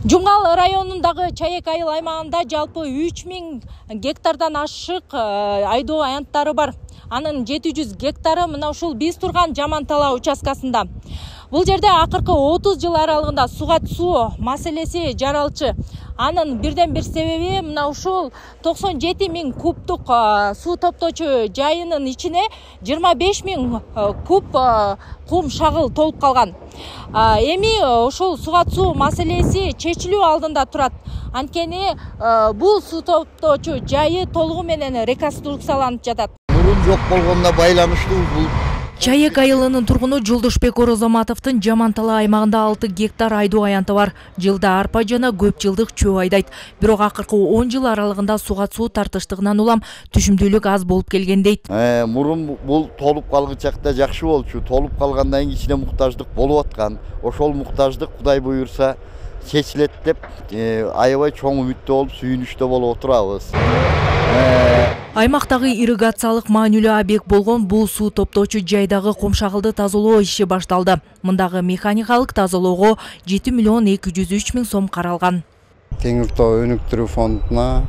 Жумгал районундагы Чаек айыл аймагында жалпы 3000 гектардан ашык айдоо аянттары бар. Анын 700 гектары мына ушул биз турган Жамантала участкасында. Бул жерде акыркы 30 жыл аралыгында суга суу маселеси жаралчы. Анын бирден бир себеби мына ушул 97 000 кубтук суу топтоочу жайынын ичине 25 000 куб кум шагыл толуп калган. Эми ушул суга суу маселеси чечилүү алдында турат. Анткени бул суу топтоочу жайы толугу менен реконструкцияланып жатат. Мурун жок болгонуна байланыштуу бул Чаек айылынын тургуну Жолдошбек Орозоматовдун Жамантала аймагында 6 гектар айдоо аянты бар. Жылда арпа жана көп жылдык чөө айдайт. Бирок акыркы 10 жыл аралыгында суга суу тартыштыгынан улам түшүмдүүлүк аз болуп келген дейт. Мурун бул толуп калгычакта жакшы болчу. Толуп калгандан кийин кичине муктаждык болуп аткан. Ошол муктаждык Кудай буйрса чечилет деп аябай чоң үмүттө болуп, сүйүнүчтө болуп отурабыз. Аймактагы ирригациялык маанилүү объект болгон бул суу топтоочу жайдагы кумшагылды тазалоо иши башталды. Мындагы механикалык тазалоого 7 миллион 203 миң сом каралган. Теңир Тоо өнүктүрүү фондуна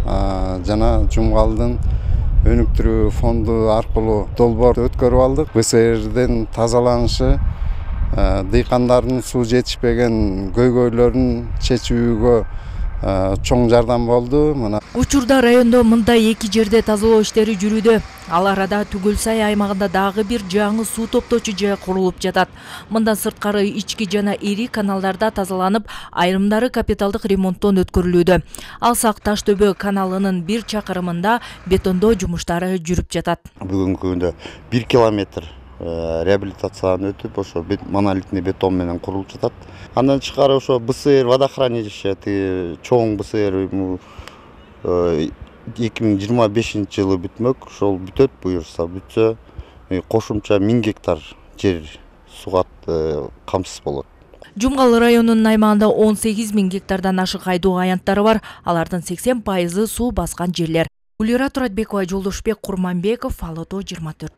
жана Жумгалдын өнүктүрүү фонду аркылуу долбоор өткөрүп алдык. БСРден тазаланышы дыйкандардын суу жетишпеген көйгөйлөрүн чечүүгө чоң жардам болду. Учурда райондо мындай 2 жерде тазалоо иштери жүрүүдө. Ал арада Түгөлсай аймагында дагы бир жаңы суу топтоочу жай курулуп жатат. Мындан сырткары ички жана ири каналдарда тазаланып, айрымдары капиталдык ремонттон өткөрүлүүдө. Алсак Таштөбө каналынын 1 чакырымында бетондоо жумуштары жүрүп жатат. Бүгүнкү күндө 1 километр реабилитациядан өтүп, ошо монолитный бетон менен курулуп жатат. Андан тышкары ошо БСР водохранилище чоң БСР 2025 жылы бүтмөк. Ошол бүтөт, буюрса бүтсө кошумча 1000 гектар жер суга камсыз болот. Жумгал районунун аймагында 18 000 гектардан ашык айдоо аянттары бар. Алардын 80% суу баскан жерлер. Гулира Туратбекова, Жолдошбек Курманбеков, Ало тоо 24.